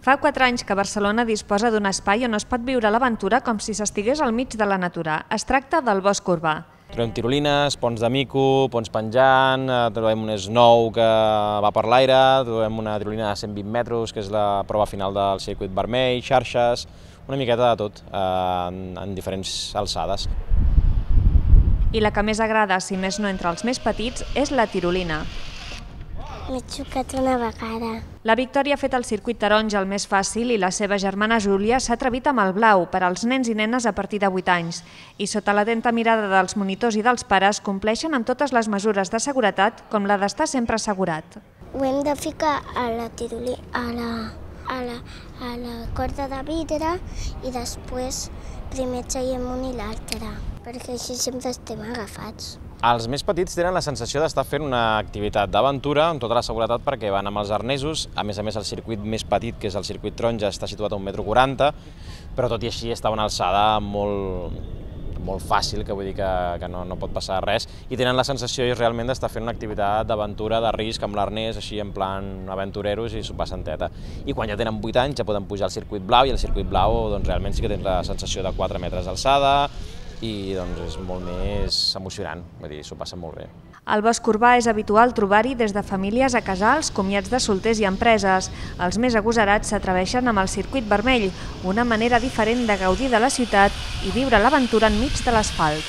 Fa 4 anys que Barcelona disposa d'un espai on es pot viure l'aventura com si s'estigués al mig de la natura. Es tracta del Bosc Urbà. Trobem tirolines, ponts de mico, ponts penjant, trobem un snow que va per l'aire, trobem una tirolina de 120 metres, que és la prova final del circuit vermell, xarxes, una miqueta de tot, en diferents alçades. I la que més agrada, si més no entre els més petits, és la tirolina. M'he xocat una vegada. La Victòria ha fet el circuit taronja el més fàcil i la seva germana Júlia s'ha atrevit amb el blau per als nens i nenes a partir de 8 anys. I sota l'atenta mirada dels monitors i dels pares compleixen amb totes les mesures de seguretat com la d'estar sempre assegurat. Ho hem de ficar a la tirolina, a la corda de vidre i després primer traiem un i l'altre, perquè així sempre estem agafats. Els més petits tenen la sensació d'estar fent una activitat d'aventura amb tota la seguretat perquè van amb els arnesos. A més, el circuit més petit, que és el circuit taronja, està situat a 1,40 m, però tot i així està a una alçada molt fàcil, que vull dir que no pot passar res, i tenen la sensació realment d'estar fent una activitat d'aventura, de risc, amb l'arnès, així en plan aventureros, i s'ho passen teta. I quan ja tenen 8 anys ja poden pujar al circuit blau, i al circuit blau doncs, realment sí que tens la sensació de 4 metres d'alçada, i doncs, és molt més emocionant, vull dir, s'ho passen molt bé. Al Bosc Urbà és habitual trobar-hi des de famílies a casals, comiats de solters i empreses. Els més agosarats s'atreveixen amb el circuit vermell, una manera diferent de gaudir de la ciutat i viure l'aventura enmig de l'asfalt.